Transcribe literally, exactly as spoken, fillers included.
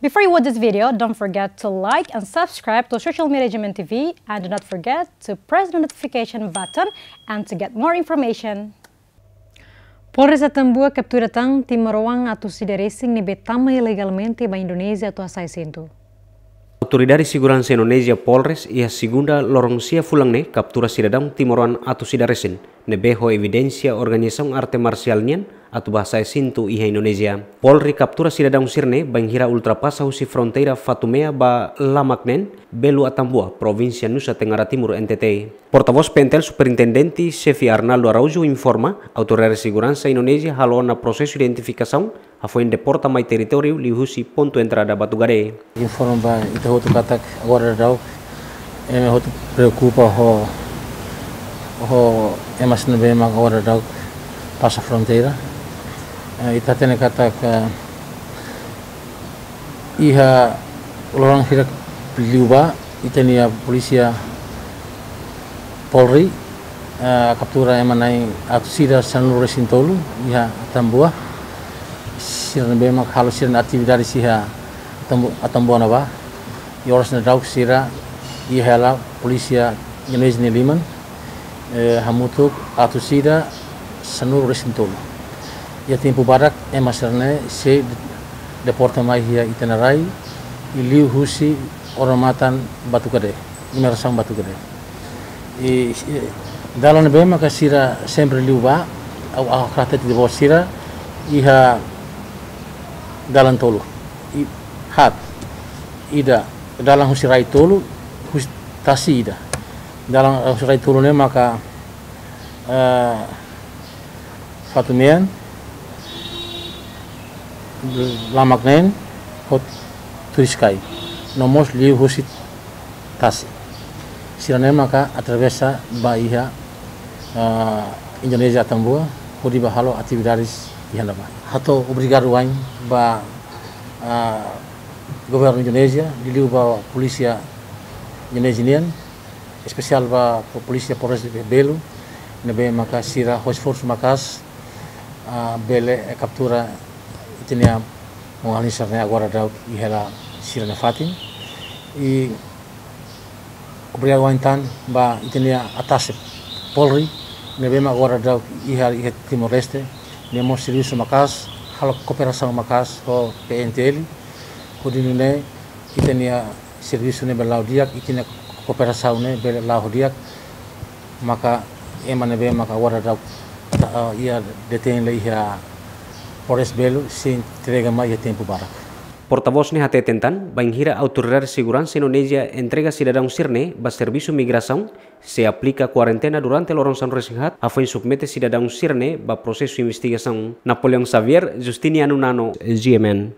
Before you watch this video, don't forget to like and subscribe to Social Media G M N T V, and do not forget to press the notification button and to get more information. Polres Atambua kaptura tan timoroan atus ida resin ne'ebé tama ilegalmente ba Indonézia atu hasa'e asentu. Autoridade Seguransa Indonézia Polres iha Segunda loron sia fulan ne'e kaptura sidadaun timoroan atus ida resin ne'ebé ho evidénsia organizasaun arte marsiál nian atu ba hasa'e asentu iha Indonézia. Polri kaptura sidadaun sira-ne'e bainhira ultrapasa husi fronteira Fatumea ba Lamak neen, Belu Atambua, Provínsia Nusa Tenggara Timur, N T T. Portavós P N T L Superintendente Xefe Arnaldo Araújo informa, autoridade seguransa Indonézia halo ona prosesu identifikasaun hafoin deporta mai territóriu liuhusi pontu entrada Batugade. Informa ba ita hotu katak agora daudaun ema hotu preokupa ho, ho ema sira ne'ebé mak agora daudaun pasa fronteira. Eh, ita hatene katak, eh, iha loron hirak liubá, ita-nia polísia Polri, eh, kaptura ema na'in atus ida sanulu resin tolu iha Atambua. Sira ne'ebé mak halo sira-nia atividade iha Atambu-, Atambua ne'ebá. I oras ne'e daudaun sira iha hela polísia Indonézia nia liman, eh, hamutuk atus ida sanulu resin tolu. Iha tempu badak ema sira-ne'e sei deporta mai iha ita-nia rai, i liuhusi odamatan Batugade, imigrasaun Batugade. I, i dalan ne'ebé maka sira sempre liu ba, au, au hatete ba sira, iha dalan tolu. I, haat, ida, dalan husi rai tolu, husi tasi ida. Dalan, eh, husi rai tolu ne'e maka, eh, Fatumea, Lamak neen, ho Turiscai. No mós liuhusi tasi. Sira-ne'e maka atravesa ba iha, ah, Indonézia Atambua, hodi ba halo atividades iha ne'ebá. Hato'o obrigadu wa'in ba, ah, governu Indonézia, liuliu ba polísia Indonézia nian, espesiál ba po-, polísia Polres Belu, ne'ebé maka sira ho esforsu maka'as, ah, bele, eh, kaptura ita-nia maun-alin sira-ne'e agora daudaun iha hela sira-nia fatin. I obrigadu wa'in tan ba ita-nia ATACEP Polri, ne'ebé mak agora daudaun iha, iha Timor-Leste, nia mós servisu maka'as, halo kooperasaun maka'as ho P N T L, hodi nune'e ita-nia servisu ne'e bele la'o di'ak, ita-nia kooperasaun ne'e bele la'o di'ak, maka ema ne'ebé maka agora daudaun, ah, iha detein lai iha Polres Belu sei entrega mai iha tempu badak. Portavós ne'e hateten tan, bainhira autoridade seguransa Indonézia entrega sidadaun sira-ne'e ba servisu migrasaun, sei aplika kuarentena durante loron sanulu resin haat, hafoin submete sidadaun sira-ne'e ba prosesu investigasaun. Napoleão Xavier, Justiniano Nano, G M N.